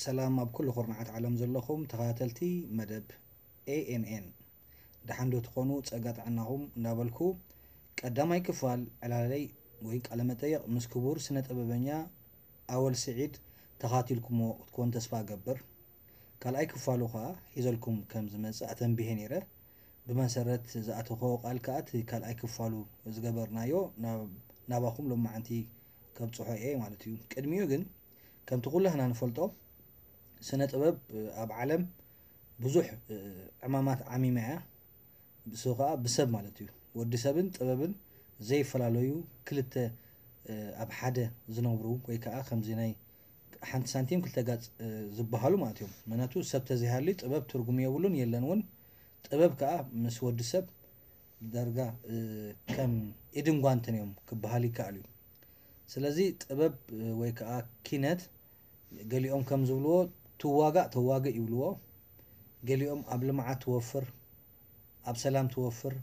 ሰላም ኣብ ኩሉ ኩርናዓት ዓለም ዘለኹም ተኸታተልቲ መደብ ኤ ኤን ኤን፣ ደሓን ዶ ትኾኑ? ጸጋ ጥዕናኹም እንዳበልኩ፣ ቀዳማይ ክፋል ዕላለይ ወይ ቃለ መጠይቕ ምስ ክቡር ስነ ጥበበኛ ኣወል ስዒድ ተኻቲልኩሞ ክትኮን ተስፋ እገብር። ካልኣይ ክፋሉ ኸኣ ሒዘልኩም ከም ዝመጽእ ኣተንቢሄ ነይረ። ብመሰረት ዝኣተኽዎ ቃል ከኣ እቲ ካልኣይ ክፋሉ ዝገበርናዮ ናብ-፣ ናባኹም ሎማዓንቲ ከብጽሖ እየ ማለት እዩ። ቅድሚኡ ግን ከምቲ ኩላህና ንፈልጦ ስነ ጥበብ ኣብ ዓለም ብዙሕ ዕማማት ዓሚማ እያ። እሱ ኸዓ ብሰብ ማለት እዩ። ወዲ ሰብን ጥበብን ዘይፈላለዩ ክልተ ኣብ ሓደ ዝነብሩ ወይ ከዓ ከምዚ ናይ ሓንቲ ሳንቲም ክልተ ጋፅ ዝበሃሉ ማለት እዮም። ምክንያቱ ሰብ ተዘይሃልዩ ጥበብ ትርጉም የብሉን የለን እውን። ጥበብ ከዓ ምስ ወዲ ሰብ ዳርጋ ከም ኢድን ጓንትን እዮም ክበሃል ይከኣል እዩ። ስለዚ ጥበብ ወይ ከዓ ኪነት ገሊኦም ከም ዝብልዎ ትዋጋእ ተዋግእ ይብልዎ። ገሊኦም ኣብ ልምዓት ትወፍር፣ ኣብ ሰላም ትወፍር፣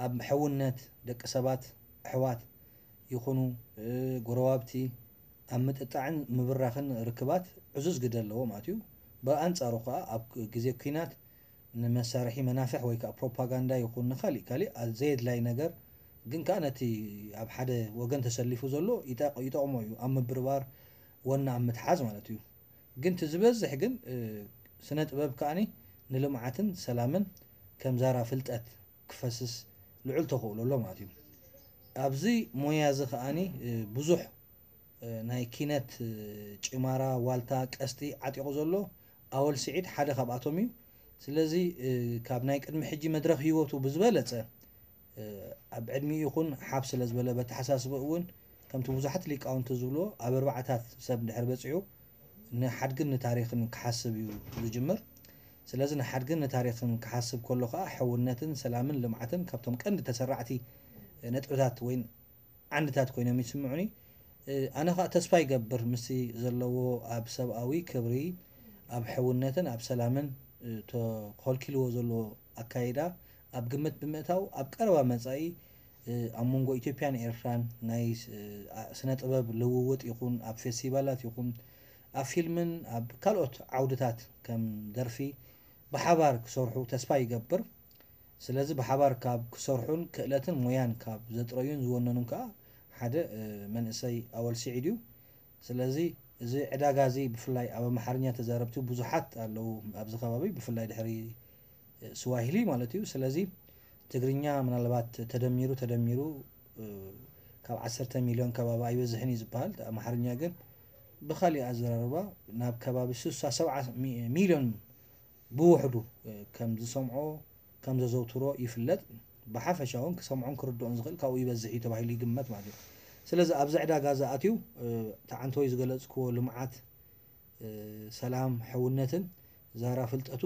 ኣብ ሕውነት ደቂ ሰባት ኣሕዋት ይኹኑ ጎረባብቲ ኣብ ምጥጣዕን ምብራኽን ርክባት ዕዙዝ ግደ ኣለዎ ማለት እዩ። ብኣንጻሩ ከኣ ኣብ ግዜ ኲናት ንመሳርሒ መናፍሕ ወይ ከዓ ፕሮፓጋንዳ ይኹን ንካሊእ ካሊእ ዘየድላይ ነገር ግን ከዓ ነቲ ኣብ ሓደ ወገን ተሰሊፉ ዘሎ ይጠቕ-፣ ይጠቕሞ እዩ ኣብ ምብርባር ወና ኣብ ምትሓዝ ማለት እዩ። ግን እቲ ዝበዝሕ ግን ስነ ጥበብ ከዓኒ ንልምዓትን ሰላምን ከም ዛራ ፍልጠት ክፈስስ ልዑል ተኽእሎ ኣሎ ማለት እዩ። ኣብዚ ሞያ እዚ ከዓኒ ብዙሕ ናይ ኪነት ጭማራ ዋልታ ቀስቲ ዓጢቑ ዘሎ ኣወል ስዒድ ሓደ ካብኣቶም እዩ። ስለዚ ካብ ናይ ቅድሚ ሕጂ መድረኽ ህይወቱ ብዝበለፀ ኣብ ዕድሚኡ ይኹን ሓፍ ስለ ዝበለ በተሓሳስበ እውን ከምቲ ብዙሓት ሊቃውንቲ ዝብልዎ ኣብ ኣርባዕታት ሰብ ድሕር በፂሑ ንሓድግን ንታሪኽን ክሓስብ እዩ ዝጅምር። ስለዚ ንሓድግን ንታሪኽን ክሓስብ ከሎ ከዓ ሕውነትን ሰላምን ልምዓትን ካብቶም ቀንዲ ተሰራዕቲ ነጥብታት ወይ ዓንድታት ኮይኖም ይስምዑኒ። ኣነ ከዓ ተስፋ ይገብር ምስቲ ዘለዎ ኣብ ሰብኣዊ ክብሪ ኣብ ሕውነትን ኣብ ሰላምን ተኸልኪልዎ ዘሎ ኣካይዳ ኣብ ግምት ብምእታው ኣብ ቀረባ መጻኢ ኣብ መንጎ ኢትዮጵያን ኤርትራን ናይ ስነ ጥበብ ልውውጥ ይኹን ኣብ ፌስቲቫላት ይኹን ኣብ ፊልምን ኣብ ካልኦት ዓውድታት ከም ደርፊ ብሓባር ክሰርሑ ተስፋ ይገብር። ስለዚ ብሓባር ካብ ክሰርሑን ክእለትን ሞያን ካብ ዘጥረዩን ዝወነኑን ከዓ ሓደ መንእሰይ ኣወል ስዒድ እዩ። ስለዚ እዚ ዕዳጋ እዚ ብፍላይ ኣብ ኣምሓርኛ ተዛረብቲ ብዙሓት ኣለዉ ኣብዚ ከባቢ ብፍላይ ድሕሪ ስዋሂሊ ማለት እዩ። ስለዚ ትግርኛ ምናልባት ተደሚሩ ተደሚሩ ካብ ዓሰርተ ሚልዮን ከባቢ ኣይበዝሕን እዩ ዝበሃል። ኣምሓርኛ ግን ብኻሊእ ኣዘራርባ ናብ ከባቢ ስሳ ሰብዓ ሚልዮን ብውሕዱ ከም ዝሰምዖ ከም ዘዘውትሮ ይፍለጥ። ብሓፈሻ እውን ክሰምዖን ክርድኦን ዝኽእል ካብኡ ይበዝሕ እዩ ተባሂሉ ይግመት ማለት እዩ። ስለዚ ኣብዚ ዕዳጋ እዚ ኣትዩ እቲ ዓንተወይ ዝገለፅክዎ ልምዓት ሰላም፣ ሕውነትን ዛራ ፍልጠቱ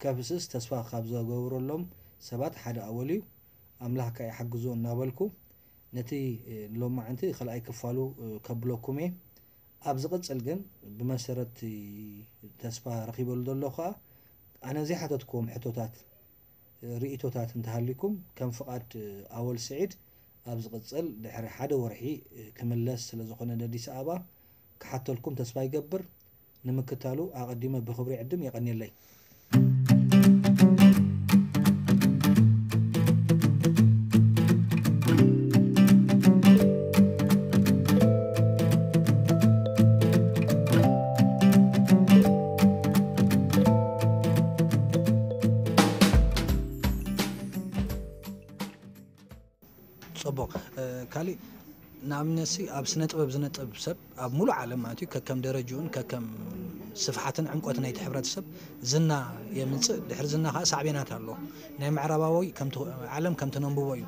ከፍስስ ተስፋ ካብ ዘገብረሎም ሰባት ሓደ ኣወል እዩ። ኣምላኽ ከኣ ይሓግዞ እናበልኩ ነቲ ንሎማዓንቲ ካልኣይ ክፋሉ ከብለኩም እየ። ኣብ ዝቕጽል ግን ብመሰረት ተስፋ ረኺበሉ ዘሎ ከኣ ኣነ ዘይሓተትክዎም ሕቶታት ርእይቶታት እንተሃሊኩም ከም ፍቓድ ኣወል ስዒድ ኣብ ዝቕጽል ድሕሪ ሓደ ወርሒ ክምለስ ስለ ዝኾነ ነዲስ ኣበባ ክሓተልኩም ተስፋ ይገብር። ንምክታሉ ኣቐዲመ ብኽብሪ ዕድም የቐንየለይ። ጽቡቕ። ካሊእ ንኣብነትሲ ኣብ ስነ ጥበብ ዝነጥብ ሰብ ኣብ ሙሉእ ዓለም ማለት እዩ ከከም ደረጅኡን ከከም ስፍሓትን ዕምቆት ናይቲ ሕብረተሰብ ዝና የምጽእ። ድሕሪ ዝና ከዓ ሳዕቤናት ኣሎ። ናይ ምዕራባዊ ዓለም ከምቲ ነንብቦ እዩ።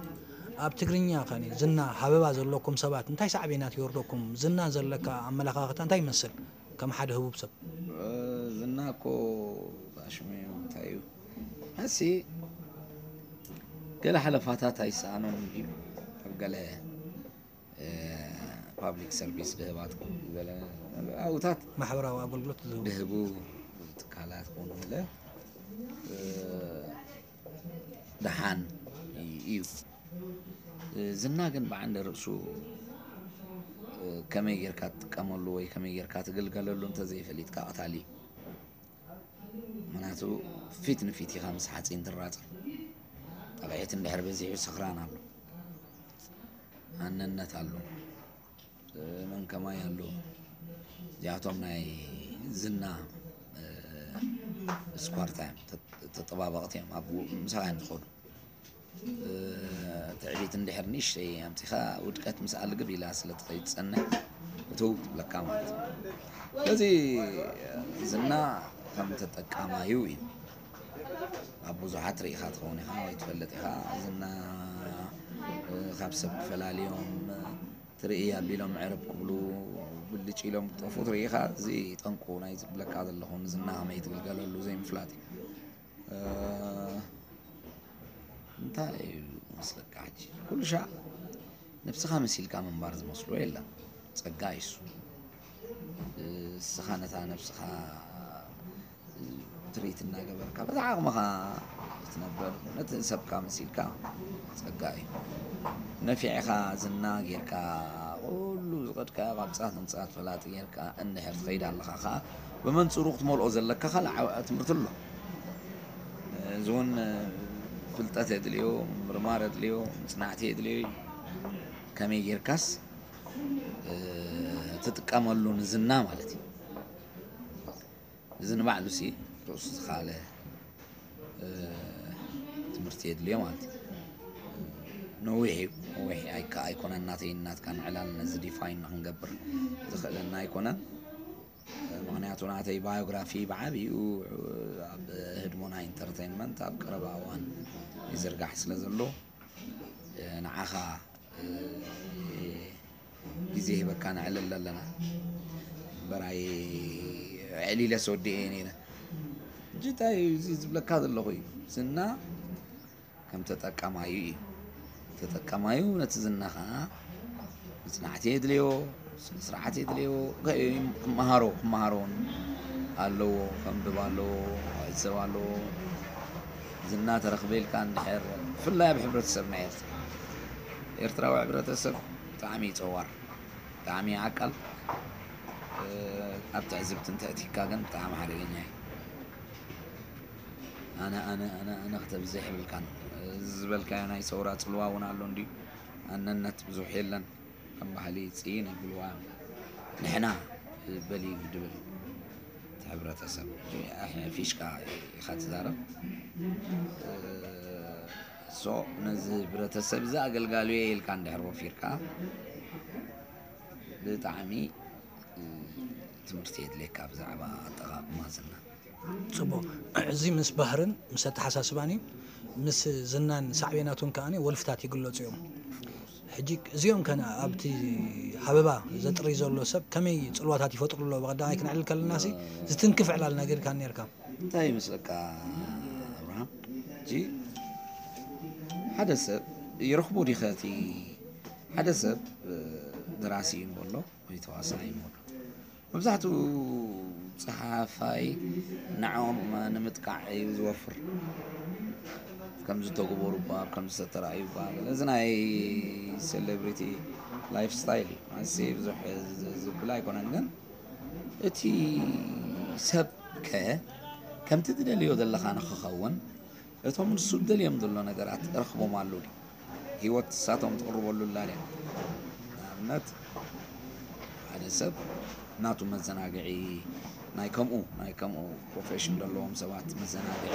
ኣብ ትግርኛ ከ ዝና ሃበባ ዘለኩም ሰባት እንታይ ሳዕቤናት ይወርደኩም? ዝና ዘለካ ኣመለኻኽታ እንታይ ይመስል? ከም ሓደ ህቡብ ሰብ። ዝና እኮ ኣሽሙ እንታይ እዩ? እሲ ገለ ሓለፋታት ኣይሰኣኖም እዩ ኣብ ገለ ፓብሊክ ሰርቪስ ድህባት ገለ ኣውታት ማሕበራዊ ኣገልግሎት ዝህቡ ድህቡ ትካላት ኮኑ ገለ ደሓን እዩ። ዝና ግን ብዓንደ ርእሱ ከመይ ጌርካ ትጥቀመሉ ወይ ከመይ ጌርካ ትግልገለሉ እንተዘይፈሊጥካ ቀታሊ እዩ። ምክንያቱ ፊት ንፊት ኢኻ ምስ ሓፂን ትራፀም። ጠቕዒት እንድሕር በዚሑ ስኽራን ኣሎ፣ ኣነነት ኣሎ፣ መን ከማይ ኣሎ። እዚኣቶም ናይ ዝና ስኳርታ እዮም፣ ተጠባበቕቲ እዮም፣ ኣብ ምሳኻ እዮም ዝኸዱ። ትዕቢት እንድሕር ንእሽተይ ኣምፂኻ ውድቀት ምስኣ ልግብ ኢላ ስለ ትኸይድ ትፀንሕ እትው ትብለካ ማለት እዩ። ስለዚ ዝና ከም ተጠቃማዩ እዩ። ኣብ ብዙሓት ርኢኻ ትኸውን ኢኻ ወይ ትፈልጥ ኢኻ። ዝና ካብ ሰብ ክፈላልዮም ትርኢ ኣቢሎም ዕርብ ክብሉ ብልጭ ኢሎም ክጠፉ ትርኢ ኢኻ። እዚ ጠንቁ ናይ ዝብለካ ዘለኹ ንዝና ከመይ ትግልገለሉ ዘይምፍላጥ እዩ። እንታይ እዩ መስለካ ሕጂ? ኩሉ ሻዕ ነብስኻ መሲልካ ምንባር ዝመስሎ የለን። ጸጋ እዩ እሱ። እስኻ ነታ ነብስኻ ትሪት እናገበርካ በዛ ዓቕምኻ ትነብር፣ ነቲ ሰብካ መሲልካ ጸጋ እዩ። ነፊዕኻ ዝና ጌርካ ኩሉ ዝኸድካዮ ካብ ጻት ንጻት ፈላጢ ጌርካ እንድሕር ትኸይድ ኣለኻ ኸኣ ብመንጽሩ ክትመልኦ ዘለካ ካልእ ዓብዪ ትምህርቲ ኣሎ። እዚ እውን ፍልጠት የድልዮ፣ ምርማር የድልዮ፣ ምጽናዕቲ የድልዮ እዩ። ከመይ ጌርካስ ትጥቀመሉ ንዝና ማለት እዩ። እዚ ንባዕሉ ሲ ርእሱ ዝኻለ ትምህርቲ የድልዮ ማለት እዩ። ነዊሕ እዩ፣ ነዊሕ ኣይከ ኣይኮነን ናተይ ናትካ ንዕላል ነዚ ዲፋይን ንክንገብር ዝኽእለና ኣይኮነን። ምክንያቱ ናተይ ባዮግራፊ ብዓብኡ ኣብ ህድሞና ኢንተርቴንመንት ኣብ ቀረባ እዋን ይዝርጋሕ ስለ ዘሎ ንዓኻ ግዜ ሂበካ ነዕልል ኣለና። እምበራይ ኣዕሊለ ሰወዲኤ እየ ነይረ። ሕጂ እንታይ እዩ እዚ ዝብለካ ዘለኹ እዩ ዝና ከም ተጠቃማዩ እዩ። ተጠቃማዩ ነቲ ዝና ኸዓ መጽናዕቲ የድልዮ፣ ስነ ስርዓት የድልዮ። ክመሃሮ ክመሃሮ እውን ኣለዎ፣ ከንብብ ኣለዎ፣ ክዕዘብ ኣለዎ። ዝና ተረኽበ ኢልካ እንድሕር ብፍላይ ኣብ ሕብረተሰብና ኤርትራ፣ ኤርትራዊ ሕብረተሰብ ብጣዕሚ እዩ ጸዋር፣ ብጣዕሚ እዩ ዓቃል። ኣብ ትዕዝብቲ እንተእቲካ ግን ብጣዕሚ ሓደገኛ እዩ። ኣነ ኣነ ኣነ ኣነ ክተብዝሕ የብልካን። እዚ ዝበልካዮ ናይ ሰውራ ጽልዋ እውን ኣሎ እንድዩ። ኣነነት ብዙሕ የለን ከም ባህሊ ጽይን ይብልዋ እዮም። ንሕና በሊ ድብል እቲ ሕብረተሰብ ፊሽካ ኢኻ ትዛረብ። ሶ ነዚ ህብረተሰብ እዚ ኣገልጋሉ እየ ኢልካ እንድሕር ወፊርካ ብጣዕሚ ትምህርቲ የድልየካ ብዛዕባ ኣጠቓቕማ ዝና። ጽቡቕ። እዚ ምስ ባህርን ምስ ኣተሓሳስባን እዩ። ምስ ዝናን ሳዕቤናቱን ከኣ ወልፍታት ይግለጹ እዮም። ሕጂ እዚኦም ከ ኣብቲ ሃበባ ዘጥሪ ዘሎ ሰብ ከመይ ጽልዋታት ይፈጥሩ ኣለዉ? ብቐዳማይ ክነዕልል ከለናሲ ዝትንክፍ ዕላል ነጊርካኒ ነርካ። እንታይ ይመስለካ ኣብርሃም? ሕጂ ሓደ ሰብ ይረኽቦ ዲኸ እቲ ሓደ ሰብ ደራሲ እዩ ንበሎ ወይ ተዋሳኢ እዩ ንበሎ መብዛሕትኡ ጸሓፋይ ንዕኦም ንምጥቃዕ እዩ ዝወፍር። ከምዚ ተግበሩ እባ ከምዚ ተተራእዩ እባ እዚ ናይ ሴሌብሪቲ ላይፍ ስታይል እዩ። እዚ ብዙሕ ዝብል ኣይኮነን ግን እቲ ሰብ ከ ከምቲ ትደልዮ ዘለኻ ንኽኸውን እቶም ንሱ ደልዮም ዘሎ ነገራት ረኽቦም ኣለዉ ድዩ? ህይወት ንሳቶም ትቕርበሉ ኣላ ድያ? ንኣብነት ሓደ ሰብ ናቱ መዘናግዒ ናይ ከምኡ ናይ ከምኡ ፕሮፌሽን ዘለዎም ሰባት መዘናግዒ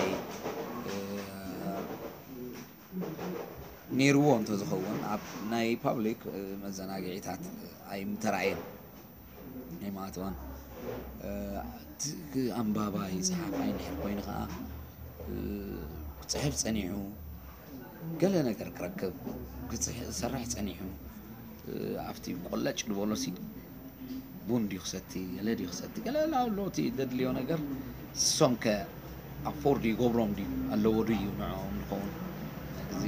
ነይርዎ እንተዝኸውን ኣብ ናይ ፓብሊክ መዘናግዒታት ኣይምተራእየን። ኣይማእተወን። ኣንባባይ ጸሓፋይ እንድሕር ኮይኑ ከኣ ክጽሕፍ ጸኒሑ ገለ ነገር ክረክብ ክሰርሕ ጸኒሑ ኣብቲ ቆለጭ ዝበሎሲ ቡን ድዩ ክሰቲ ገለ ድዩ ክሰቲ ገለ ኣለዎ እቲ ዘድልዮ ነገር ንሶም ከ ኣፎርድ ይገብሮም ድዩ ኣለዎ ድዩ ንዕኦም ዝኸውን እዚ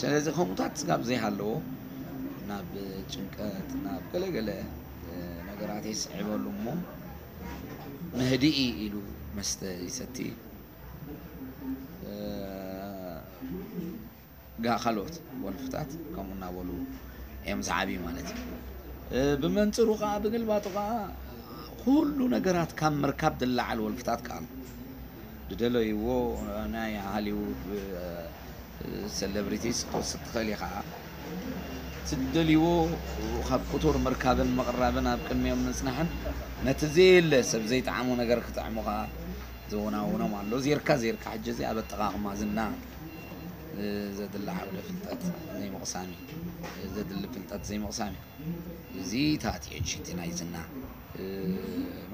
ስለዚ ከምኡታት ስጋብ ዘይሃለዎ ናብ ጭንቀት ናብ ገለገለ ነገራት የስዕበሉ እሞ መህድኢ ኢሉ መስተ ይሰቲ ካልኦት ወልፍታት ከምኡ እናበሉ እዮም ዝዓብዩ ማለት እዩ። ብመንፅሩ ከዓ ብግልባጡ ከዓ ኩሉ ነገራት ካብ ምርካብ ዝለዓል ወልፍታት ከዓ ድደለይዎ ናይ ሃሊውድ ሴሌብሪቲስ ክትወስድ ትኽእል ኢኻ። ትደልይዎ ካብ ቁቱር ምርካብን ምቕራብን ኣብ ቅድሚኦም ምጽናሕን ነቲ ዘየለ ሰብ ዘይጠዓሞ ነገር ክጥዕሙ ከዓ ዘወናውኖም ኣሎ። ዜርካ ዜርካ ሕጂ እዚ ኣብ ኣጠቓቕማ ዝና ዘድሊ ዓውደ ፍልጠት ዘይምቕሳም እዩ። ዘድሊ ፍልጠት ዘይምቕሳም እዩ። እዚ ታትዮ ሽቲ ናይ ዝና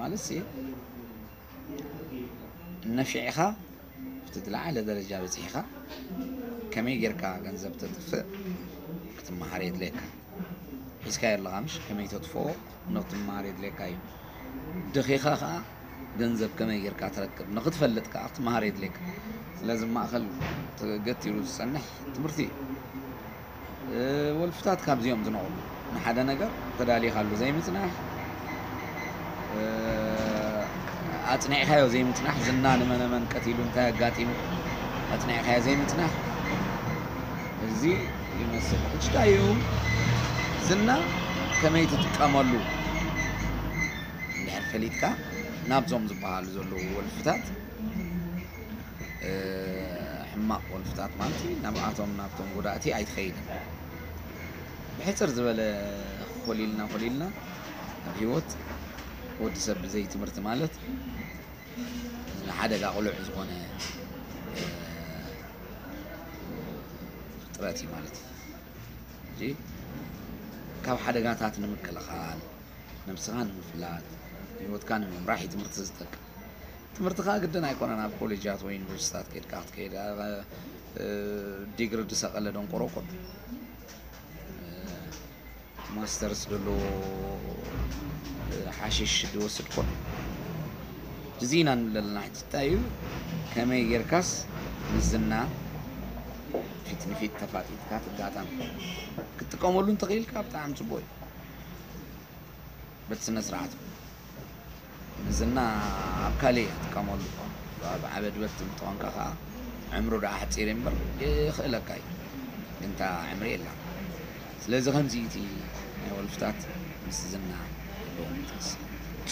ማለት ሲ ነፊዕኻ ኣብቲ ዝለዓለ ደረጃ በፂሕኻ ከመይ ጌርካ ገንዘብ ተጥፍእ ክትመሃር የድልየካ። ሒዝካዮ ኣለኻ ምሽ ከመይ ተጥፍኦ ንክትመሃር የድልየካ እዩ። ደኺኻ ከዓ ገንዘብ ከመይ ጌርካ ትረክብ ንክትፈልጥ ከዓ ክትመሃር የድልየካ። ስለዚ ማእኸል ተገቲሩ ዝፀንሕ ትምህርቲ እዩ። ወልፍታት ካብዚኦም ዝነቕሉ ንሓደ ነገር ተዳሊኻሉ ዘይምፅናሕ፣ ኣፅኒዕካዮ ዘይምፅናሕ፣ ዝና ንመነመን ቀቲሉ እንታይ ኣጋጢሙ ኣፅኒዕካዮ ዘይምፅናሕ፣ እዚ ይመስል። ሕጂ እንታይ እዩ ዝና ከመይ ትጥቀመሉ እንድሕር ፈሊጥካ ናብዞም ዝበሃሉ ዘለዉ ወልፍታት ሕማቕ ወልፍታት ማለት እዩ። ናብኣቶም ናብቶም ጎዳእቲ ኣይትኸይድን። ብሕፅር ዝበለ ኮሊልና ኮሊልና ኣብ ህይወት ወዲ ሰብ ብዘይ ትምህርቲ ማለት ንሓደጋ ቅሉዕ ዝኾነ ፍጥረት እዩ ማለት እዩ። ካብ ሓደጋታት ንምክልኻል ነብስኻ ንምፍላጥ ህይወትካ ንምምራሕ እዩ ትምህርቲ ዝጠቅም። ትምህርቲ ከዓ ግድን ኣይኮነን ኣብ ኮሌጃት ወይ ዩኒቨርሲታት ከድካ ክትከይድ ዲግሪ ዝሰቀለ ደንቆሮ ኮን ማስተርስ ዘለዎ ሓሽሽ ዝወስድ ኮን እዚ ኢና ንብለልና ሕጂ እንታይ እዩ ከመይ ጌርካስ ንዝና ፊት ንፊት ተፋጢጥካ ትጋጠም ክትጥቀመሉ እንተኽኢልካ ብጣዕሚ ፅቡቅ እዩ በቲ ስነ ስርዓት ንዝና ኣብ ካልእ ክትጥቀመሉ ኣብ ዓበድበት ትምጠወንካ ከዓ ዕምሩ ደኣ ኣሕፂር እምበር ይኽእለካ እዩ ግንታ ዕምሪ የላ ስለዚ ከምዚ እቲ ናይ ወልፍታት ምስ ዝና ኣለዎም ተስ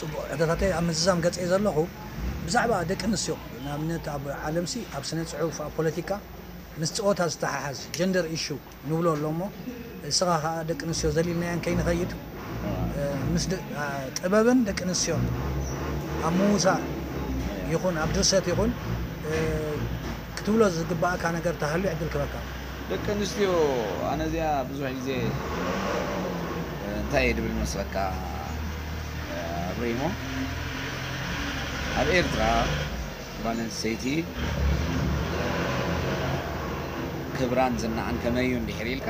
ፅቡቅ ሕቶታተይ ኣብ ምዝዛም ገፀ ዘለኹ ብዛዕባ ደቂ ኣንስትዮ ንኣብነት ኣብ ዓለምሲ ኣብ ስነ ፅሑፍ ኣብ ፖለቲካ ምስ ፀወታ ዝተሓሓዝ ጀንደር ኢሹ ንብሎ ኣሎ እሞ እስኻ ከዓ ደቂ ኣንስትዮ ዘሊልናየን ከይንኸይድ ምስ ጥበብን ደቂ ኣንስትዮን ኣብ ምውሳእ ይኹን ኣብ ድርሰት ይኹን ክትብሎ ዝግባእካ ነገር ተሃልዩ ዕድል ክበካ ደቂ ኣንስትዮ ኣነ እዚኣ ብዙሕ ግዜ እንታይ እየ ድብል መስለካ ኣብሪሞ ኣብ ኤርትራ ጓል ኣንስተይቲ ክብራን ዝናኣን ከመይ እዩ እንድሕር ኢልካ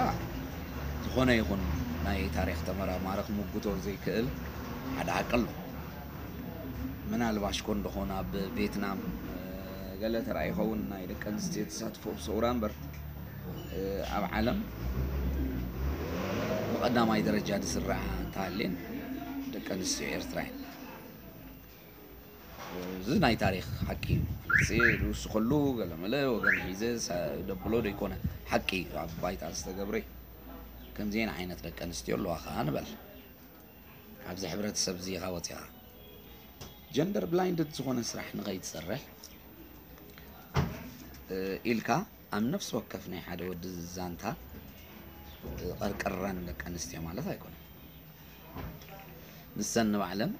ዝኾነ ይኹን ናይ ታሪኽ ተመራማሪ ክምጉቶ ዘይክእል ሓደ ሓቂ ኣሎ። ምናልባሽ ኮን ደኾን ኣብ ቬትናም ገለ ተራእዩ ይኸውን ናይ ደቂ ኣንስትዮ ተሳትፎ ሰውራ እምበር ኣብ ዓለም ብቐዳማይ ደረጃ ዝስራዓ እንተሃልየን ደቂ ኣንስትዮ ኤርትራ እየን። እዚ ናይ ታሪክ ሓቂ እዩ። እዚ ዝውስኸሉ ገለመለ ወገን ሒዘ ደብሎ ዘይኮነ ሓቂ እዩ። ኣብ ባይታ ዝተገብረ እዩ። ከምዚአን ዓይነት ደቂ ኣንስትዮ ኣለዋ ከዓ ንበል። ኣብዚ ሕብረተሰብ እዚ ኢኻ ወፂኻ ጀንደር ብላይንድድ ዝኾነ ስራሕ ንኸይትሰርሕ ኢልካ ኣብ ነፍሲ ወከፍ ናይ ሓደ ወዲ ዛንታ ቀርቀረን ደቂ ኣንስትዮ ማለት ኣይኮነን። ንሰን ንባዕለን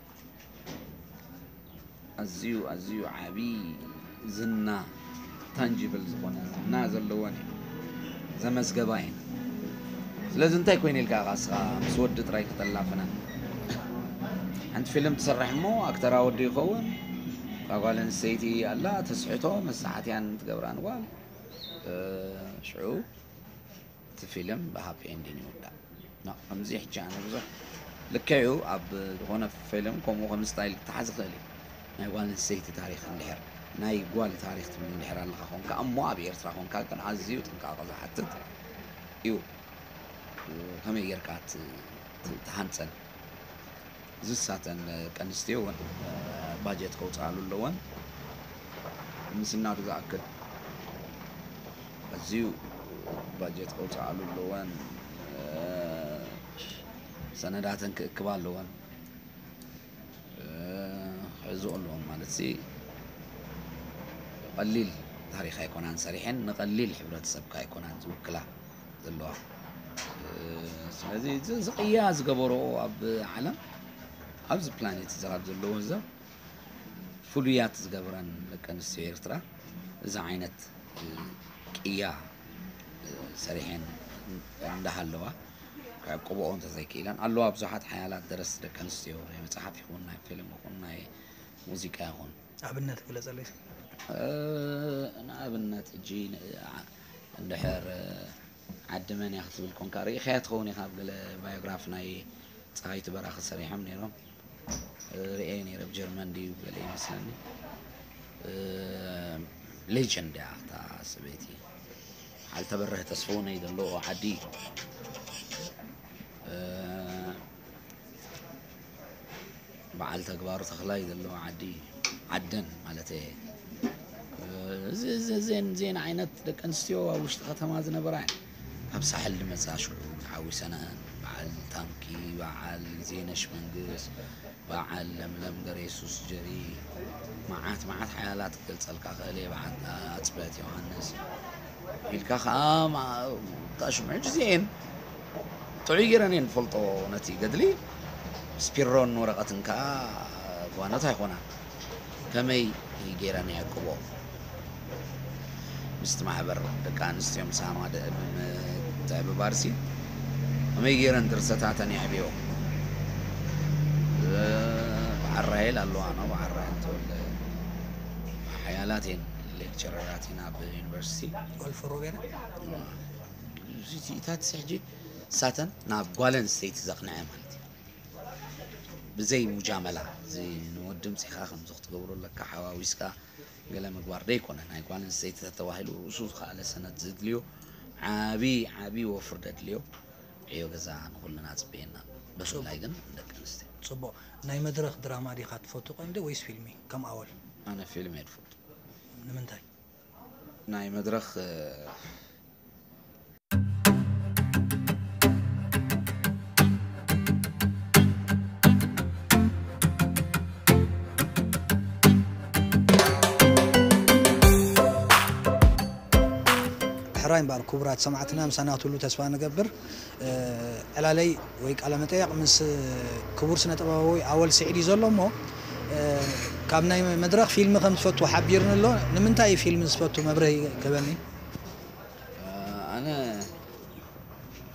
ኣዝዩ ኣዝዩ ዓቢ ዝና ታንጂብል ዝኾነ ዝና ዘለወን እዩ ዘመዝገባ እየን። ስለዚ እንታይ ኮይነ ኢልካ ኢኻ እስኻ ምስ ወዲ ጥራይ ከተላፍነን? ሓንቲ ፊልም ትሰርሕ እሞ ኣክተራ ወዲ ይኸውን፣ እታ ጓል ኣንስተይቲ ኣላ ተስሕቶ መሳሓትያን ትገብራን ጓል ሽዑ እቲ ፊልም ብሃፒ ኤንዲን ይውዳእ። ከምዚ ሕጂ ኣነ ብዙሕ ልክዕ እዩ ኣብ ዝኾነ ፊልም ከምኡ ከም ስታይል ክተሓዝ ይኽእል እዩ ናይ ጓል ኣንስተይቲ ታሪክ እንድሕር ናይ ጓል ታሪክ ትብል እንድሕር ኣለካ ኮንካ እሞ ኣብ ኤርትራ ኮንካ ግን ኣዝዩ ጥንቃቐ ዝሓትት እዩ ከመይ ጌርካ ትሃንፀን ዝሳተን ደቂ ኣንስትዮ እውን ባጀት ከውፅኣሉ ኣለወን ምስናዱ ዝኣክል ኣዝዩ ባጀት ከውፅኣሉ ኣለወን ሰነዳተን ክእክባ ኣለወን። ክሕዝኦ ኣለዎም ማለት ሲ ቀሊል ታሪኽ ኣይኮናን ሰሪሐን፣ ንቐሊል ሕብረተሰብካ ኣይኮናን ዝውክላ ዘለዋ። ስለዚ እዚ ቅያ ዝገበሮ ኣብ ዓለም፣ ኣብዚ ፕላኔት እዚ ካብ ዘለዎ ህዝብ ፍሉያት ዝገብረን ደቂ ኣንስትዮ ኤርትራ እዚ ዓይነት ቅያ ሰሪሐን እንዳሃለዋ ክዕቅብኦ እንተዘይክኢለን ኣለዋ። ብዙሓት ሓያላት ደረስቲ ደቂ ኣንስትዮ ናይ መፅሓፍ ይኹን ናይ ፊልም ይኹን ናይ ሙዚቃ ይኹን ኣብነት ግለፀለይ። ንኣብነት ሕጂ እንድሕር ዓዲ መን እያ ክትብል ኮንካ ርኢኻያ ትኸውን ኢኻ። ኣብ ገለ ባዮግራፍ ናይ ፀሃይቱ በራኺ ሰሪሖም ነይሮም። ርእየ ነይረ ኣብ ጀርመን ድዩ ገለ ይመስለኒ። ሌጀንድ እያ እታ ሰበይቲ። በዓል ተበረህ ተስፍውነይ ዘለዎ ዓዲ በዓል ተግባሩ ተኽላይ ዘለዎ ዓዲ ዓደን ማለት እየ። እዚን ዜን ዓይነት ደቂ ኣንስትዮ ኣብ ውሽጢ ከተማ ዝነበራ እየን። ካብ ሳሕል ዝመፃ ሽዑ ተሓዊሰናን በዓል ታንኪ፣ በዓል ዜነሽ መንግስ፣ በዓል ለምለም ገሬሱስ ጀሪ መዓት መዓት ሓያላት ክገልፀልካ ክእል እየ። በዓል ኣፅበት ዮሃንስ ኢልካ ከዓ ታሽምዑ ጊዜን ጥዑይ ገይረን እየን ዝፈልጦ ነቲ ገድሊ ስፒሮን ወረቐትን ከዓ ጓኖት ኣይኮና ከመይ ገይረን የዕቅቦ ምስቲ ማሕበር ደቂ ኣንስትዮ ምሳማ ምትዕብባርሲ ከመይ ገይረን ድርሰታተን የዕብዮ። በዓል ራሄል ኣለዋ ነው በዓል ራሄል ተወልደ ሓያላት እየን ሌክቸረራት ኢና ኣብ ዩኒቨርሲቲ ኦልፎ ሮቤራ እታት ሕጂ ሳተን ናብ ጓል ኣንስተይቲ ዘቕንዐ ማለት እዩ። ብዘይ ሙጃመላ እዚ ንወዲ ምፅኻ ከምዚ ክትገብሮ ኣለካ ሓዋዊስካ ገለ ምግባር ደይኮነ ናይ ጓል ኣንስተይቲ ተተባሂሉ ርእሱ ዝኸኣለ ሰነድ ዝድልዮ ዓቢ ዓቢ ወፍሪ ደድልዮ ዕዮ ገዛ ንኩልና ጽበየና ብፍላይ ግን ደቂ ኣንስትዮ። ጽቡቕ ናይ መድረኽ ድራማ ዲኻ ትፈቱ ቀንዲ ወይስ ፊልሚ ከም ኣወል? ኣነ ፊልም እየ ዝፈቱ። ንምንታይ? ናይ መድረኽ ሕራይ እምበኣር ክቡራት ሰማዕትና ምሳና ክትህሉ ተስፋ ንገብር። ዕላለይ ወይ ቃለ መጠየቕ ምስ ክቡር ስነ ጥበባዊ ኣወል ስዒድ እዩ ዘሎ እሞ ካብ ናይ መድረኽ ፊልሚ ከም ትፈቱ ሓቢርኒ ኣሎ። ንምንታይ እዩ ፊልሚ ዝፈቱ መብርሂ ክህበኒ? ኣነ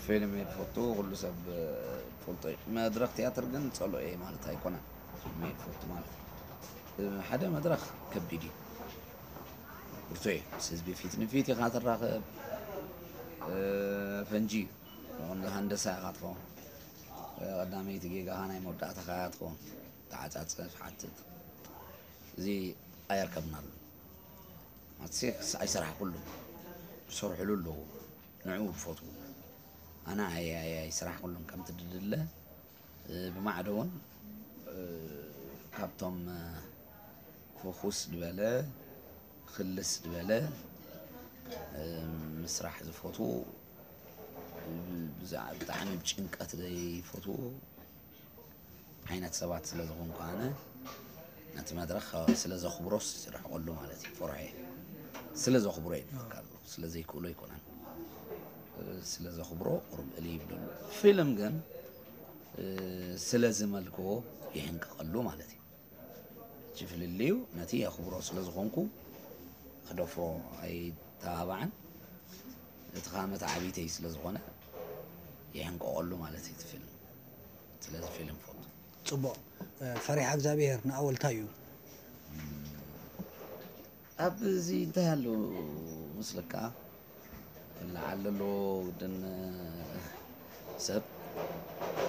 ፊልም እየ ዝፈቱ፣ ኩሉ ሰብ ፈልጦ እዩ። መድረኽ ትያትር ግን ጸልኦ እየ ማለት ኣይኮነን። ፊልም እየ ዝፈቱ ማለት ሓደ መድረኽ ከቢድ እዩ። ብርቱዕ እዩ። ምስ ህዝቢ ፊት ንፊት ኢኻ ትራኸብ። ፈንጂ እዩ። ንሃንደሳ ኢኻ ትኸውን። ቀዳመይቲ ጌጋኻ ናይ መወዳእታኻ እያ ትኸውን። ተዓጻጸፍ ሓትት እዚ ኣየርከብናሉ። ኣትሴክስ ኣይሰራሕኩሉን ዝሰርሕሉ ኣለዉ ንዕኡ ዝፈትዉ ኣነ ኣይስራሕኩሉን ከምቲ ድድለ ብማዕዶ እውን ካብቶም ፍኹስ ዝበለ ክልስ ዝበለ ምስራሕ ዝፈትዉ ብጣዕሚ ብጭንቀት ዘይፈትዉ ዓይነት ሰባት ስለ ዝኾንኩ ኣነ ነቲ መድረኽ ስለ ዘኽብሮስ ይርሕቐሉ ማለት እዩ። ፈርሖ እየ ስለ ዘኽብሮ እየ ዝብለካ ኣለኹ። ስለ ዘይክእሎ ኣይኮነን። ስለ ዘኽብሮ ቁሩብ እልይ ይብለሉ። ፊልም ግን ስለ ዝመልክዎ ይሕንቀቐሉ ማለት እዩ። እቲ ፍልልዩ ነቲ የኽብሮ ስለ ዝኾንኩ ክደፍሮ ኣይተባባዕን። እቲ ከዓ መተዓቢተይ ስለ ዝኾነ ይሕንቀቐሉ ማለት እዩ እቲ ፊልም። ስለዚ ፊልም ፈቱ። ፅቡቕ። ፈሪሓ እግዚኣብሄር ንኣወል እንታይ እዩ? ኣብዚ እንታይ ኣሎ መስለካ? ክለዓል ዘለዎ ግድን ሰብ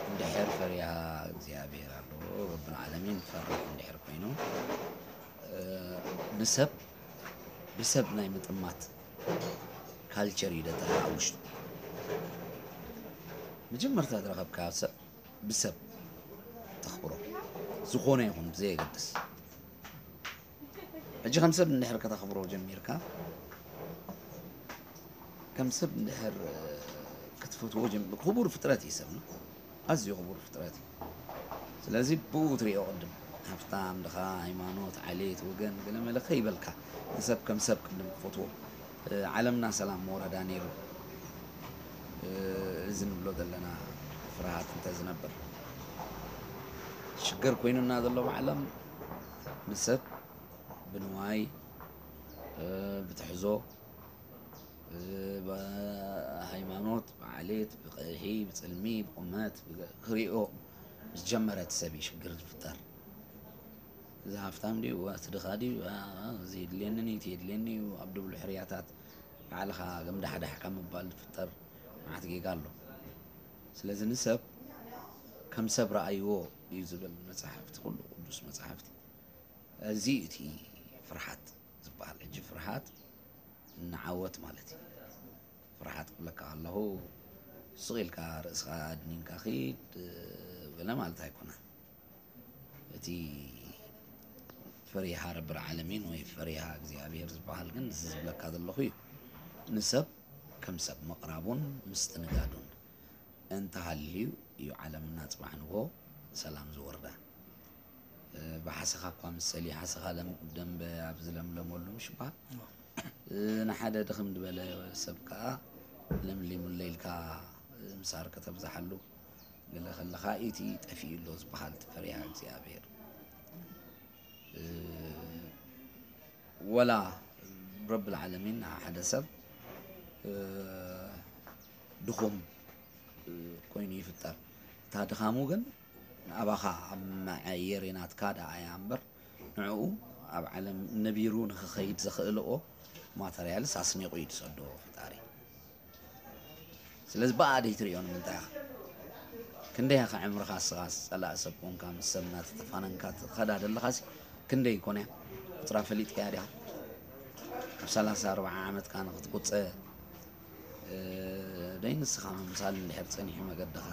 እንድሕር ፈሪሃ እግዚኣብሄር ኣሎ ረብል ዓለሚን ፈርሕ እንድሕር ኮይኑ ንሰብ ብሰብ ናይ ምጥማት ካልቸር እዩ ደጠርዓ ውሽጡ መጀመርታ ዝረኸብካ ሰብ ብሰብ ተኽብሮ ዝኾነ ይኹን ብዘየገድስ ሕጂ ከም ሰብ እንድሕር ከተኽብሮ ጀሚርካ ከም ሰብ እንድሕር ክትፈትዎ ጀሚር ክቡር ፍጥረት እዩ ሰብና ኣዝዩ ክቡር ፍጥረት እዩ። ስለዚ ብኡ ትሪኦ ቅድም ሃብታም ድኻ፣ ሃይማኖት፣ ዓሌት፣ ወገን ገለመለ ከይበልካ ንሰብ ከም ሰብ ቅድም ክፈትዎ። ዓለምና ሰላም መወረዳ ነይሩ። እዚ ንብሎ ዘለና ፍርሃት እንተ ዝነብር ሽግር ኮይኑና ዘሎ ብዓለም ንሰብ ብንዋይ ብትሕዞ ብሃይማኖት ብዓሌት ብቐይሒ ብፅልሚ ብቁመት ክሪኦ ምስ ጀመረ እቲ ሰብ እዩ ሽግር ዝፍጠር። እዚ ሃፍታም ድዩ እቲ ድኻ ድዩ እዚ የድልየኒ እዩ እቲ የድልየኒ እዩ ኣብ ድብሉ ሕርያታት ባዕልኻ ገምዳሕዳሕ ካብ ምባል ዝፍጠር መዓት ጌጋ ኣሎ። ስለዚ ንሰብ ከም ሰብ ረኣይዎ እዩ ዝብል መፅሓፍቲ ኩሉ ቅዱስ መፅሓፍቲ። እዚ እቲ ፍርሓት ዝበሃል ሕጂ ፍርሓት ንዓወት ማለት እዩ። ፍርሓት ክብለካ ከለኹ ስቕ ኢልካ ርእስኻ ኣድኒንካ ኺድ ገለ ማለት ኣይኮነን። እቲ ፈሪሃ ረብል ዓለሚን ወይ ፈሪሃ እግዚኣብሔር ዝበሃል ግን እዚ ዝብለካ ዘለኹ እዩ። ንሰብ ከም ሰብ ምቕራቡን ምስትንጋዱን እንተሃልዩ እዩ ዓለምና ጽባሕ ንግሆ ሰላም ዝወርዳ። ብሓሰኻ እኳ ምሰሊ ሓሰኻ ደንበ ኣብ ዝለምለመሉ ምሽ በሃል። ንሓደ ድኽም ዝበለ ሰብ ከኣ ለምሊሙለይ ኢልካ ምሳር ከተብዝሓሉ ገለ ከለኻ እቲ ጠፊኡ ኣሎ ዝበሃል እቲ ፈሪሃ እግዚኣብሔር። ወላ ረብል ዓለሚን ሓደ ሰብ ድኹም ኮይኑ ይፍጠር። እታ ድኻሙ ግን ኣባኻ ኣብ መዐየሪ ናትካ ደኣ እያ እምበር ንዕኡ ኣብ ዓለም ነቢሩ ንኽኸይድ ዘኽእልኦ ማተርያልስ ኣስኒቑ እዩ ዝሰዶ ፈጣሪ። ስለዚ ብኣ ደይትሪኦ ንምንታይ ኢኻ? ክንደይ ኢኻ ዕምርኻ እስኻ ጸላእ ሰብ ኮንካ ምስ ሰብ እናተተፋነንካ ትኸዳ ዘለኻሲ ክንደይ ይኮን እያ? ቁጽራ ፈሊጥካያ ዲኻ? ኣብ ሰላሳ ኣርብዓ ዓመትካ ንኽትቁጸ ደይ ንስኻ ምምሳል እንድሕር ጸኒሑ መገድኻ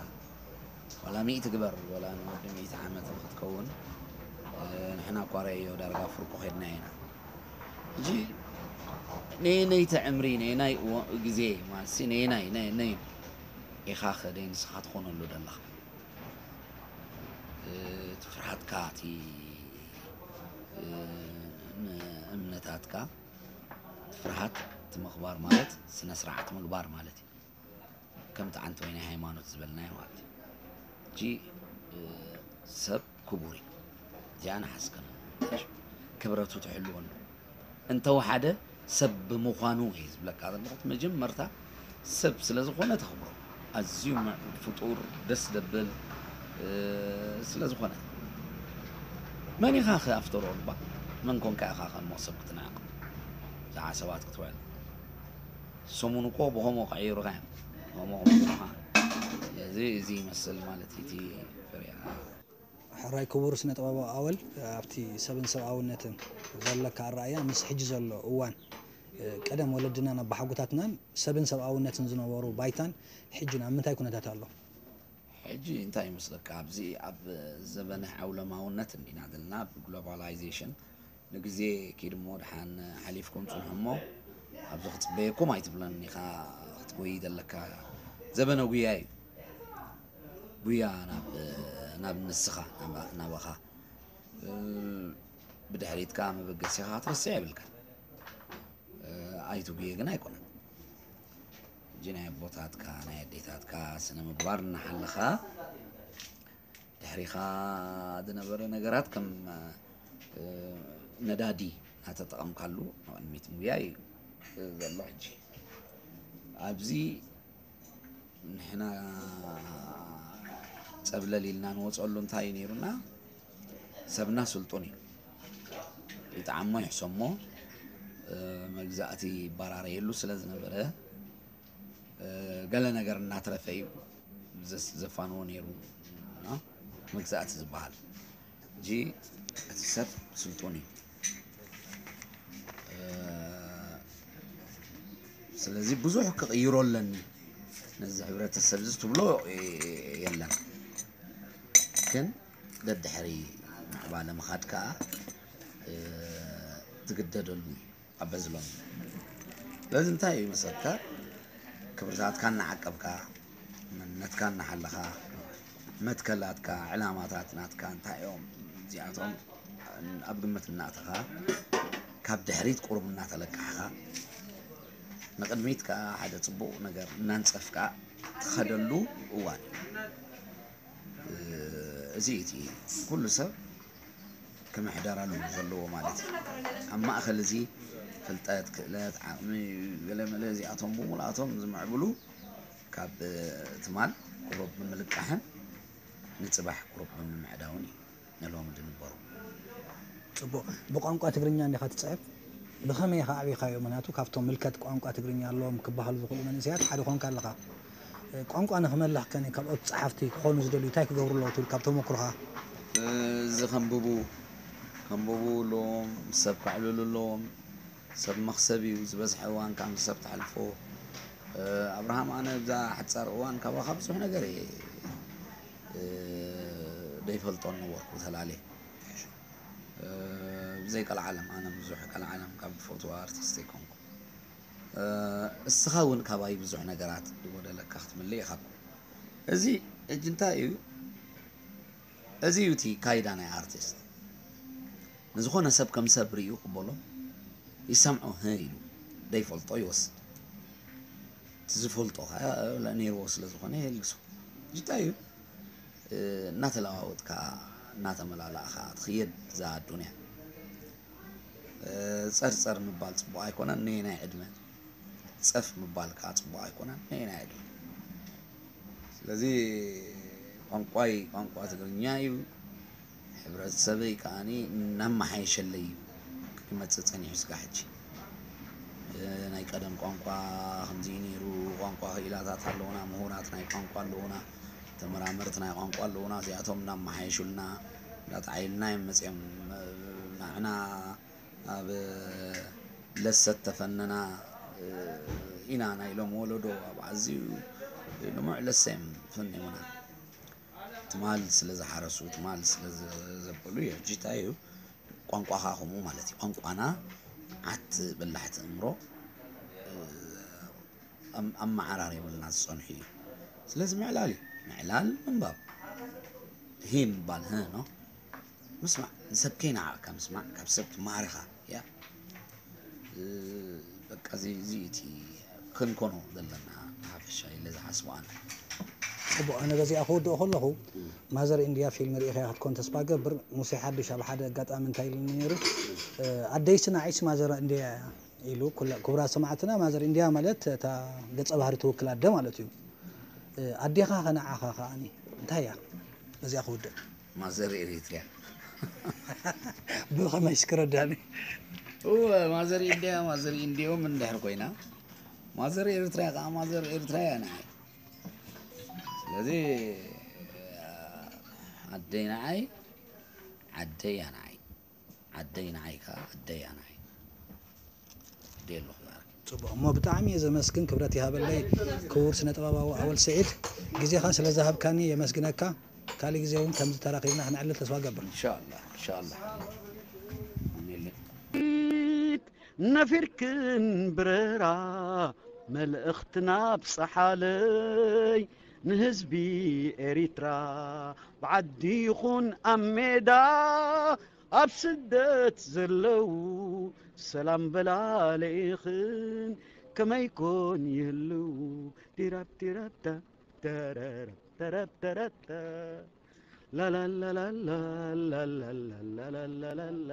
ዋላ ሚእቲ ግበር ዋላ ንወዲ ሚእቲ ዓመት ንኽትከውን ንሕና እኳ ረእዮ ዳርጋ ፍርቁ ኸድና ኢና። ሕጂ ነየነይቲ ዕምሪ ነየናይ ግዜ ማለትሲ ነየናይ ነየነይ ኢኻ ኸደይ ንስኻ ትኾነሉ ደለኻ እቲ ፍርሃትካ እቲ እምነታትካ ፍርሃት እቲ ምኽባር ማለት ስነ ስርዓት ምግባር ማለት እዩ። ከም ጣዕንቲ ወይ ናይ ሃይማኖት ዝበልናዮ ማለት እዩ። እጂ ሰብ ክቡር እዩ። እዚኣ ንሓስከም ክብረቱ ትሕልወሉ እንተወሓደ ሰብ ብምዃኑ እየ ዝብለካ ዘለኹ። መጀመርታ ሰብ ስለ ዝኾነ ተኽብሮ። ኣዝዩ ምዕቡድ ፍጡር፣ ደስ ዘብል ስለ ዝኾነ መን ኢኻ ከ ኣፍተር ኦል እባ መን ኮንካ ኢኻ ከም ሰብ ክትንዕቕ? ብዛዕባ ሰባት ክትውዕል ሰሙን እኮ ብኸምኡ ቀይሩኻ እዮም። ከምኡ ከምኡ ኢኻ። ስለዚ እዚ ይመስል ማለት እዩ እቲ ፍርያ። ሕራይ ክቡር ስነ ጥበባዊ ኣወል ኣብቲ ሰብን ሰብኣውነትን ዘለካ ኣረኣእያ ምስ ሕጂ ዘሎ እዋን ቀደም ወለድናን ኣባሓጎታትናን ሰብን ሰብኣውነትን ዝነበሩ ባይታን ሕጂ ናብ ምንታይ ኩነታት ኣሎ? ሕጂ እንታይ ይመስለካ ኣብዚ ኣብ ዘበነ ዓውለማውነት እንዲና ዘለና ብግሎባላይዜሽን ንግዜ ኪድ እሞ ድሓን ሓሊፍኩም ጽንሑ እሞ ኣብዚ ክጽበየኩም ኣይትብለን ኢኻ ክትጎይ ዘለካ ዘበነ ጉያ እዩ። ጉያ ናብ ናብ ንስኻ ናባኻ ብድሕሪትካ መበገሲኻ ክትረስዕ የብልካ። ኣይትጉየ ግን ኣይኮነን። እጂ ናይ ኣቦታትካ ናይ ኣዴታትካ ስነ ምግባር እናሓለኻ ድሕሪኻ ዝነበረ ነገራት ከም ነዳዲ እናተጠቐምካሉ ንቕድሚት ምጉያይ እዩ ዘሎ። ሕጂ ኣብዚ ንሕና ፀብለል ኢልና ንወፀሉ እንታይ እዩ ነይሩና? ሰብና ስልጡን እዩ። ይጠዓሞ ይሕሰሞ መግዛእቲ ይባራረየሉ ስለ ዝነበረ ገለ ነገር እናትረፈ እዩ ዘፋንዎ ነይሩ መግዛእቲ ዝበሃል። እጂ እቲ ሰብ ስልጡን እዩ። ስለዚ ብዙሕ ክቕይሮ ኣለኒ ነዚ ሕብረተሰብ እዚ ትብሎ የለን። ግን ደድሕሪ ምዕባለ ምኻድ ከዓ ትግደደሉ እዩ። ኣበዝሎም ስለዚ እንታይ እዩ መሰልካ ክብርታትካ እናዓቀብካ መንነትካ እናሓለኻ መትከላትካ፣ ዕላማታት ናትካ እንታይ እዮም? እዚኣቶም ኣብ ግምት እናእተኻ፣ ካብ ድሕሪት ቁሩብ እናተለቃሕኻ፣ ንቕድሚት ከኣ ሓደ ጽቡቕ ነገር እናንጸፍካ ትኸደሉ እዋን እዩ። እዚ እቲ ኩሉ ሰብ ክምሕደረሉ ዘለዎ ማለት እዩ። ኣብ ማእከል እዚ ፍልጠት፣ ክእለት፣ ዓቕሚ፣ ገለመለ እዚኣቶም ብምልኣቶም ዝምዕብሉ ካብ ትማል ቁሩብ ብምልቃሕን ንጽባሕ ቁሩብ ብምምዕዳውን እዩ ንሎሚ ዝንበሩ። ጽቡቕ። ብቋንቋ ትግርኛ እንዲኻ ትጽሕፍ? ብኸመይ ኢኻ ኣዕቢኻዮ? ምኽንያቱ ካብቶም ምልከት ቋንቋ ትግርኛ ኣለዎም ክበሃሉ ዝኽእሉ መንእሰያት ሓደ ኮንካ ኣለኻ። እ፣ ቋንቋ ንኽመልኽ ከ ካልኦት ጸሓፍቲ ክኾኑ ዝደልዩ እንታይ ክገብሩ ኣለዎ ትብል ካብ ተመኩሮኻ? እ፣ እዚ ከንብቡ፣ ከንብቡ ኣለዎም፣ ምስ ሰብ ከዕልሉ ኣለዎም። ሰብ መኽሰብ እዩ፣ ዝበዝሐ እዋንካ ምስ ሰብ ተሕልፎ። እ፣ ኣብርሃም፣ ኣነ እዛ ሓጻር እዋን ካባኻ ብዙሕ ነገር እየ፣ እ፣ ደይፈልጦን ነበርኩ ተላልየ። እ፣ ብዘይ ቀልዓለም፣ ኣነ ብዙሕ ቀልዓለም ካብ ዝፈትዋ ኣርቲስት ኣይኮንኩ። እ፣ እስኻ እውን ካባይ ብዙሕ ነገራት ዝጎደለካ ክትምልእ ኢኻ። እዚ ሕጂ እንታይ እዩ? እዚ እዩ እቲ ካይዳ ናይ ኣርቲስት። ንዝኾነ ሰብ ከም ሰብ ርእዩ ቅበሎ፣ ይሰምዖ፣ ህ ኢሉ ደይፈልጦ ይወስድ። እቲ ዝፈልጦ ኸኣ ነይርዎ ስለ ዝኾነ የልግሶ። እንታይ እዩ? እ፣ እናተለዋወጥካ፣ እናተመላላእኻ ትኽየድ እዛ ኣዱንያ። እ፣ ጸርጸር ምባል ጽቡቕ ኣይኮነን፣ ነየናይ ዕድመ። ጸፍ ምባል ከኣ ጽቡቕ ኣይኮነን፣ ነየናይ ዕድመ። ስለዚ ቋንቋይ ቋንቋ ትግርኛ እዩ። ሕብረተሰበይ ከኣኒ እናመሓየሸለይ እዩ ክመጽእ ጸኒሑ ስጋዕ ሕጂ። እ፣ ናይ ቀደም ቋንቋ ከምዚ እዩ ነይሩ፣ ቋንቋ ክኢላታት ኣለዉና፣ ምሁራት ናይ ቋንቋ ኣለዉና፣ ተመራመርቲ ናይ ቋንቋ ኣለዉና፣ እዚኣቶም እናመሓየሹልና፣ እንዳጠዓይልና እዮም መጺኦም። እ፣ ንዓና ኣብ ለሰት ተፈነና፣ እ፣ ኢና ናይ ሎም ወለዶ ኣብ ኣዝዩ ልሙዕ ለሰ እዮም ፈኒሙና። ትማል ስለ ዝሓረሱ፣ ትማል ስለ ዘ-፣ ዘበሉ፣ ሕጂ እንታይ እዩ? ቋንቋኻ ከምኡ ማለት እዩ። ቋንቋና ዓት በላሕቲ እምሮ፣ እ፣ ኣም-፣ ኣመዓራሪቡልና ዝጸንሑ እዩ። ስለዚ ምዕላል እዩ። ምዕላል ምንባብ። ሂ ምባል፣ ህ፣ ኖ? ምስማዕ። ንሰብ ከይነዓቕካ ምስማዕ፣ ካብ ሰብ ትመሃር ኢኻ። ያ። እ፣ በቃ እዚ፣ እዚ እቲ ክንኮኖ ዘለና ብሓፈሻ ኢለ ዝሓስቦ ኣነ። ጽቡቕ፣ ኣነ በዚኣ ክውድኦ ከለኹ፣ ማዘር ኢንድያ ፊልም ርኢኻያ ክትኮን ተስፋ ገብር። ሙሴ ሓድሽ ኣብ ሓደ ኣጋጣሚ እንታይ ኢሉኒ ነይሩ? እ፣ ኣደይሲ ንዓይሲ ማዘር ኢንድያ እያ ኢሉ። ኩላ-፣ ክቡራት ሰማዕትና፣ ማዘር ኢንድያ ማለት እታ ገጸ ባህሪ ትውክል ኣደ ማለት እዩ። እ፣ ኣዴኻ ከ ንዓኻ ከኣኒ እንታይ እያ? በዚኣ ክውድእ። ማዘር ኤሪትሪያ። ብኸመይ እስኪ ረዳኒ? እወ፣ ማዘር ኢንድያ፣ ማዘር ኢንድዮም እንድሕር ኮይና፣ ማዘር ኤሪትሪያ ከኣ ማዘር ኤሪትሪያ እያ ንዓይ። ስለዚ፣ ኣደይ ንዓይ፣ ዓደይ እያ ንዓይ። ዓደይ ንዓይ ከኣ ኣደይ እያ ንዓይ። ደይ ኣለኹ ዛረብ። ጽቡቕ። እሞ ብጣዕሚ እየ ዘመስግን፣ ክብረት ይሃበለይ ክቡር ስነ ጥበባዊ ኣወል ስዒድ፣ ግዜኻ ስለ ዝሃብካኒ የመስግነካ። ካልእ ግዜ እውን ከምዚ ተራኺብና ክነዕልል ተስፋ ገብር። ኢንሻኣላህ፣ ኢንሻኣላህ። ኣሜን። ነፊርክን ብረራ መልእኽትና ብጽሓለይ ንህዝቢ ኤሪትራ ብዓዲ ይኹን ኣብ ሜዳ ኣብ ስደት ዘለዉ ሰላም በላልኢኽን ከመይ ኮን ይህልዉ ዲራብ ዲራብዳ ተረረብ ተረብ ተረተ ላላላላላላላላላላላ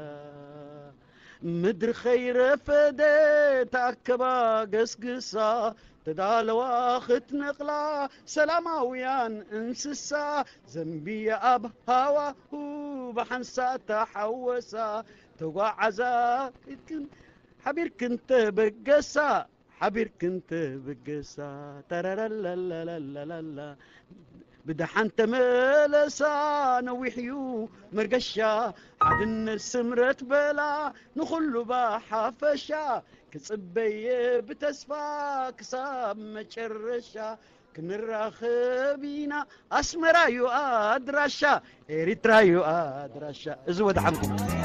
ምድሪ ኸይረፈደት ኣከባ ገስግሳ ተዳለዋ ክትነቕላ ሰላማውያን እንስሳ ዘንብያ ኣብ ሃዋሁ ብሓንሳእ ተሓወሳ ተጓዓዛ ኢልክን ሓቢርክን ተበገሳ ሓቢርክን ተበገሳ ተረረለለለለለላ ብደሓን ተመለሳ ነዊሕዩ መርገሻ ሓድነት ስምረት በላ ንኹሉ ባሓፈሻ ክጽበየ ብተስፋ ክሳብ መጨረሻ ክንራኸብ ኢና ኣስመራዩ ኣድራሻ ኤሪትራዩ ኣድራሻ እዚ ወድሓንኩም